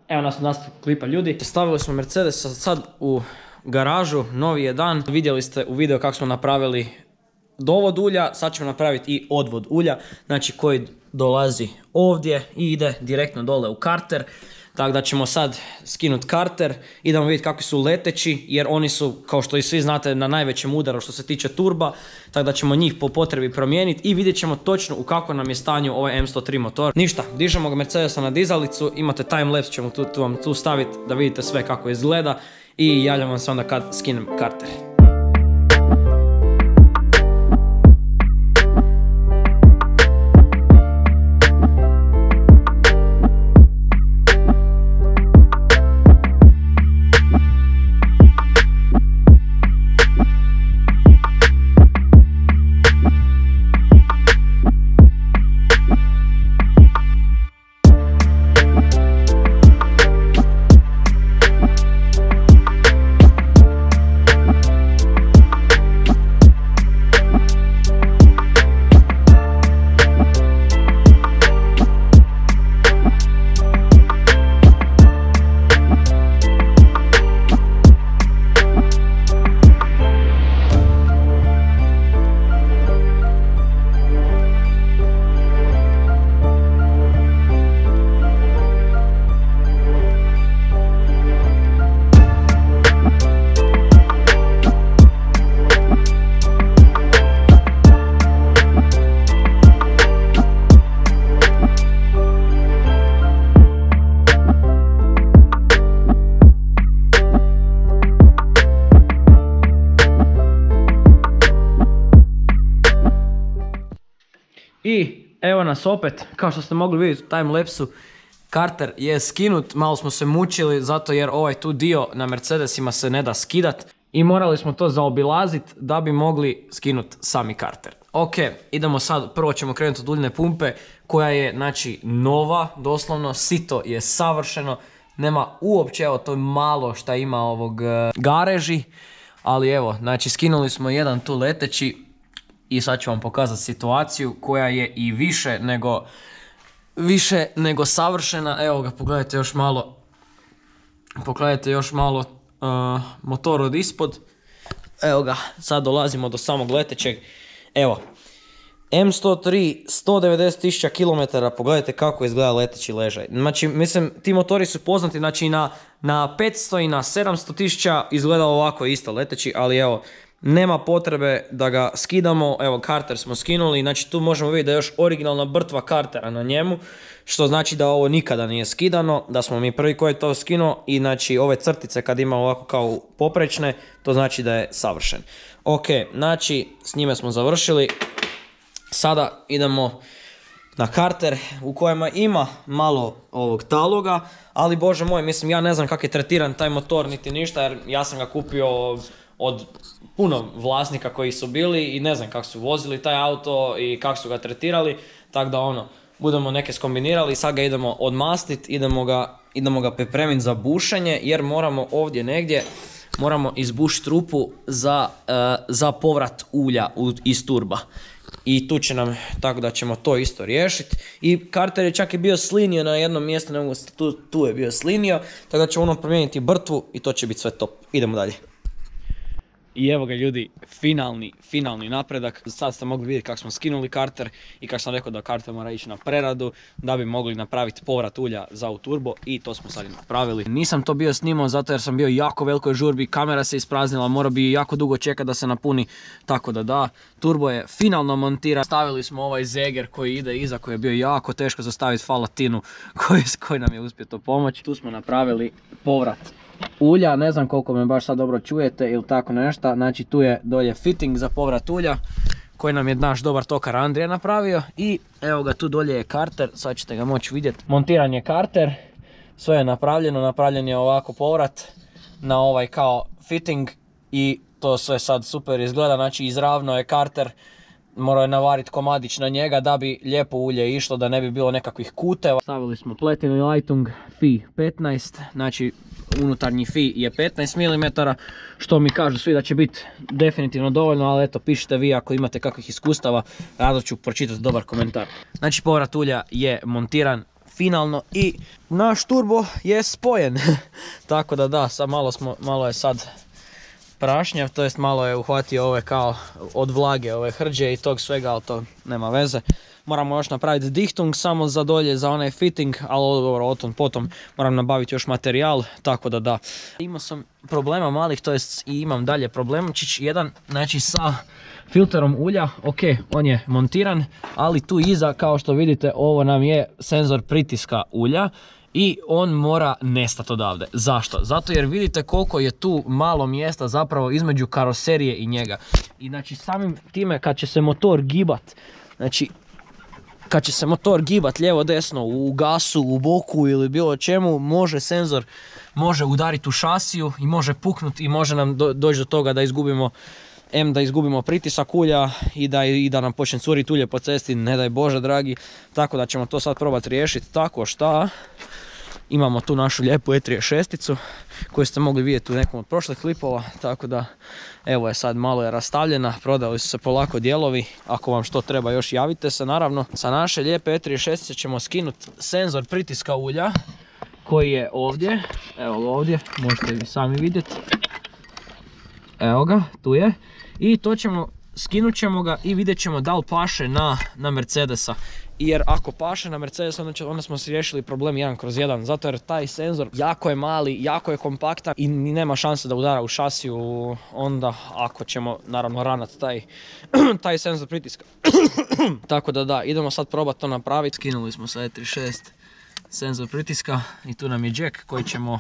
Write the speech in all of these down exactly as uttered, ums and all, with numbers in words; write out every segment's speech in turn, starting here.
Evo nas nastavku klipa ljudi. Stavili smo Mercedes sad u garažu, novi je dan. Vidjeli ste u videu kako smo napravili dovod ulja, sad ćemo napraviti i odvod ulja, znači koji dolazi ovdje i ide direktno dole u karter. Tako da ćemo sad skinuti karter, idemo vidjeti kakvi su leteći, jer oni su, kao što i svi znate, na najvećem udaru što se tiče turba, tako da ćemo njih po potrebi promijeniti i vidjet ćemo točno u kako nam je stanju ovaj M sto tri motor. Ništa, dižemo ga Mercedesa na dizalicu, imate timelapse, ćemo tu, tu vam tu staviti da vidite sve kako izgleda i javljam vam se onda kad skinem karter. I evo nas opet, kao što ste mogli vidjeti u timelapsu, karter je skinut, malo smo se mučili zato jer ovaj tu dio na Mercedesima se ne da skidat i morali smo to zaobilaziti da bi mogli skinuti sami karter. Ok, idemo sad, prvo ćemo krenuti od uljne pumpe koja je znači nova, doslovno, sito je savršeno, nema uopće, evo to je malo šta ima ovog uh, gareži, ali evo, znači skinuli smo jedan tu leteći. I sad ću vam pokazati situaciju koja je i više nego, više nego savršena. Evo ga, pogledajte još malo, pogledajte još malo uh, motor od ispod. Evo ga, sad dolazimo do samog letećeg. Evo, M sto tri, sto devedeset tisuća kilometara, pogledajte kako izgleda leteći ležaj. Znači, mislim, ti motori su poznati, znači na, na petsto i na sedamsto tisuća izgleda ovako isto leteći, ali evo, nema potrebe da ga skidamo. Evo, karter smo skinuli, znači tu možemo vidjeti da je još originalna brtva kartera na njemu, što znači da ovo nikada nije skidano, da smo mi prvi koji je to skinuo i znači ove crtice kad ima ovako kao poprečne, to znači da je savršen. Ok, znači s njime smo završili, sada idemo na karter u kojima ima malo ovog taloga, ali bože moj, mislim, ja ne znam kako je tretiran taj motor niti ništa, jer ja sam ga kupio od puno vlasnika koji su bili i ne znam kako su vozili taj auto i kako su ga tretirali, tako da ono, budemo neke skombinirali i sad ga idemo odmastiti, idemo ga, idemo ga pripremiti za bušenje, jer moramo ovdje negdje, moramo izbušiti rupu za, uh, za povrat ulja u, iz turba. I tu će nam, tako da ćemo to isto riješiti. I karter je čak i bio slinio na jednom mjestu, ne mogu, tu, tu je bio slinio, tako da ćemo ono promijeniti brtvu i to će biti sve top. Idemo dalje. I evo ga ljudi, finalni, finalni napredak. Sad ste mogli vidjeti kako smo skinuli karter i kako sam rekao da karter mora ići na preradu da bi mogli napraviti povrat ulja za u turbo i to smo sad i napravili. Nisam to bio snimao zato jer sam bio jako velikoj žurbi, kamera se ispraznila, mora bi jako dugo čekati da se napuni, tako da da. Turbo je finalno montiran. Stavili smo ovaj zeger koji ide iza, koji je bio jako teško zastaviti falatinu koji, koji nam je uspio to pomoći. Tu smo napravili povrat ulja, ne znam koliko me baš sad dobro čujete ili tako nešto, znači tu je dolje fitting za povrat ulja koji nam je naš dobar tokar Andrija napravio i evo ga, tu dolje je karter, sad ćete ga moći vidjeti. Montiran je karter, sve je napravljeno, napravljen je ovako povrat na ovaj kao fitting i to sve sad super izgleda, znači izravno je karter, morao je navariti komadić na njega da bi lijepo ulje išlo, da ne bi bilo nekakvih kuteva. Stavili smo Plätinu Leitung Fi petnaest, znači unutarnji Fi je petnaest milimetara, što mi kažu svi da će biti definitivno dovoljno, ali eto, pišite vi ako imate kakvih iskustava, rado ću pročitati dobar komentar. Znači povrat ulja je montiran, finalno i naš turbo je spojen. Tako da da, sad malo, smo, malo je sad prašnjav, to jest malo je uhvatio ove kao od vlage, ove hrđe i tog svega, ali to nema veze. Moramo još napraviti dihtung samo za dolje, za onaj fitting, ali odgovor o tom potom moram nabaviti još materijal, tako da da. Imao sam problema malih, to jest i imam dalje problemčić, jedan, znači sa filterom ulja, ok, on je montiran, ali tu iza, kao što vidite, ovo nam je senzor pritiska ulja. I on mora nestati odavde. Zašto? Zato jer vidite koliko je tu malo mjesta zapravo između karoserije i njega. I znači samim time kad će se motor gibat, znači kad će se motor gibat lijevo desno u gasu, u boku ili bilo čemu, može senzor može udariti u šasiju i može puknuti i može nam do, doći do toga da izgubimo em da izgubimo pritisak ulja i da, i da nam počne curiti ulje po cesti, ne daj Bože dragi. Tako da ćemo to sad probati riješiti tako šta. Imamo tu našu lijepu E trideset šest koju ste mogli vidjeti u nekom od prošlih klipova, tako da evo je sad malo je rastavljena, prodali su se polako dijelovi, ako vam što treba još javite se naravno. Sa naše lijepe E trideset šest ćemo skinuti senzor pritiska ulja koji je ovdje, evo ga ovdje, možete vi sami vidjeti, evo ga, tu je, i to ćemo, skinut ćemo ga i vidjet ćemo da li paše na, na Mercedesa. Jer ako paše na Mercedes, onda, će, onda smo si riješili problem jedan kroz jedan, zato jer taj senzor jako je mali, jako je kompaktan i nema šanse da udara u šasiju onda ako ćemo naravno ranat taj, taj senzor pritiska. Tako da da, idemo sad probati to napraviti. Skinuli smo sa E trideset šest senzor pritiska i tu nam je jack koji ćemo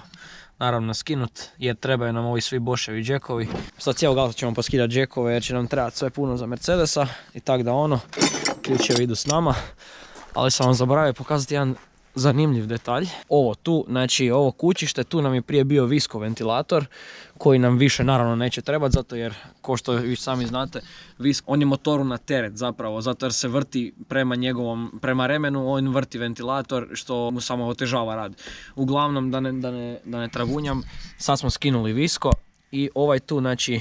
naravno skinut jer trebaju nam ovi svi Boschevi jackovi. Sad cijelog auta ćemo poskidati jackove jer će nam trebati sve puno za Mercedesa i tak da ono. Ključevi idu s nama, ali sam vam zaboravio pokazati jedan zanimljiv detalj. Ovo tu, znači ovo kućište, tu nam je prije bio visko ventilator koji nam više naravno neće trebati, zato jer, ko što vi sami znate, visko, on je motoru na teret zapravo, zato jer se vrti prema njegovom, prema remenu, on vrti ventilator što mu samo otežava rad. Uglavnom, da ne, da ne, da ne tragunjam, sad smo skinuli visko i ovaj tu, znači,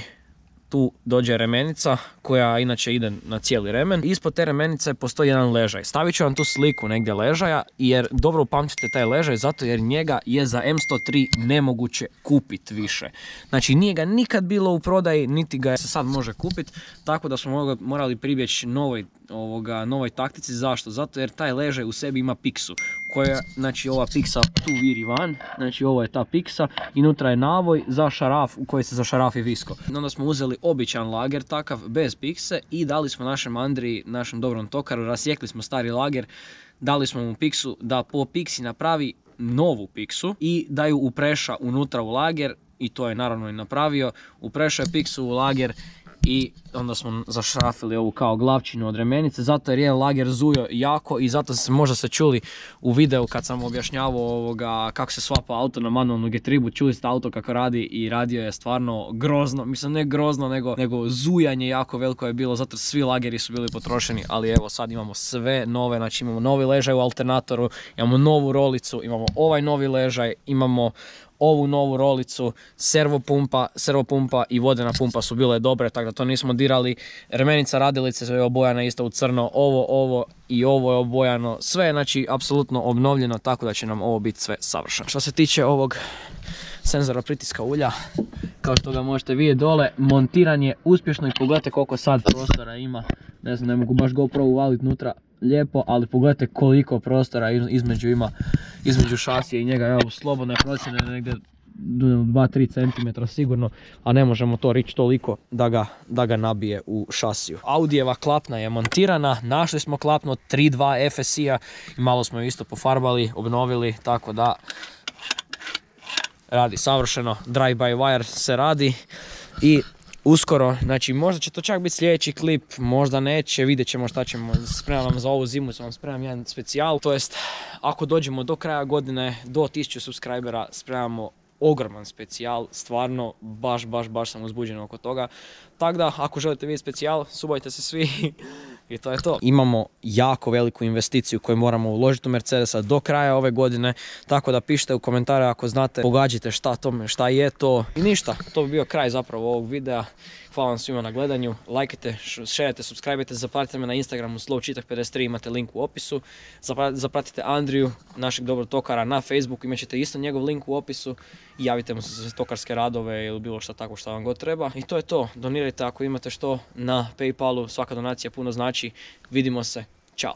tu dođe remenica koja inače ide na cijeli remen. Ispod te remenice postoji jedan ležaj. Stavit ću vam tu sliku negdje ležaja jer dobro upamtite taj ležaj zato jer njega je za M sto tri nemoguće kupiti više. Znači nije ga nikad bilo u prodaji niti ga se sad može kupiti, tako da smo morali pribjeći novoj, ovoga, novoj taktici. Zašto? Zato jer taj ležaj u sebi ima piksu koja, znači ova piksa tu viri van, znači ovo je ta piksa i unutra je navoj za šaraf u kojoj se zašarafi visko. Onda smo uzeli običan lager takav bez pikse i dali smo našem Andriji, našem dobrom tokaru, rasjekli smo stari lager, dali smo mu piksu da po piksi napravi novu piksu i da ju upreša unutra u lager i to je naravno i napravio. Uprešao je piksu u lager i onda smo zašrafili ovu kao glavčinu od remenice, zato jer je lager zujo jako i zato se možda se čuli u videu kad sam objašnjavao ovoga kako se svapa auto na manualnu getribu, čuli ste auto kako radi i radio je stvarno grozno, mislim ne grozno nego, nego zujanje jako veliko je bilo, zato svi lageri su bili potrošeni, ali evo sad imamo sve nove, znači imamo novi ležaj u alternatoru, imamo novu rolicu, imamo ovaj novi ležaj, imamo ovu novu rolicu, servopumpa, servopumpa i vodena pumpa su bile dobre, tako da to nismo dirali. Remenica radilice je obojana isto u crno, ovo, ovo i ovo je obojano, sve je znači apsolutno obnovljeno, tako da će nam ovo biti sve savršeno. Što se tiče ovog senzora pritiska ulja, kao što ga možete vidjeti dole, montiran je uspješno i pogledajte koliko sad prostora ima. Ne znam, ne mogu baš GoPro uvaliti unutra lijepo, ali pogledajte koliko prostora između ima, između šasije i njega. Evo, slobodne procjene negdje dva do tri centimetra sigurno, a ne možemo to reći toliko da ga, da ga nabije u šasiju. Audijeva klapna je montirana, našli smo klapnu od tri dva F S I-a i malo smo ju isto pofarbali, obnovili, tako da radi savršeno, drive by wire se radi i uskoro, znači možda će to čak biti sljedeći klip, možda neće, vidjet ćemo šta ćemo, spremam vam za ovu zimu, sam vam spremam jedan specijal, to jest ako dođemo do kraja godine, do tisuću subscribera, spremamo ogroman specijal, stvarno baš, baš, baš sam uzbuđen oko toga, tako da ako želite vidjeti specijal, subajte se svi I to je to. Imamo jako veliku investiciju koju moramo uložiti u Mercedesa do kraja ove godine, tako da pišite u komentare ako znate, pogađite šta, to, šta je to. I ništa, to bi bio kraj zapravo ovog videa. Hvala vam svima na gledanju, lajkajte, šerajte, subscribeajte, zapratite me na Instagramu slowčitak pedeset tri, imate link u opisu. Zapratite Andriju, našeg dobrog tokara, na Facebooku, imat ćete isto njegov link u opisu. I javite mu se za tokarske radove ili bilo šta tako što vam god treba. I to je to, donirajte ako imate što na Paypalu, svaka donacija puno znači. Vidimo se, čao!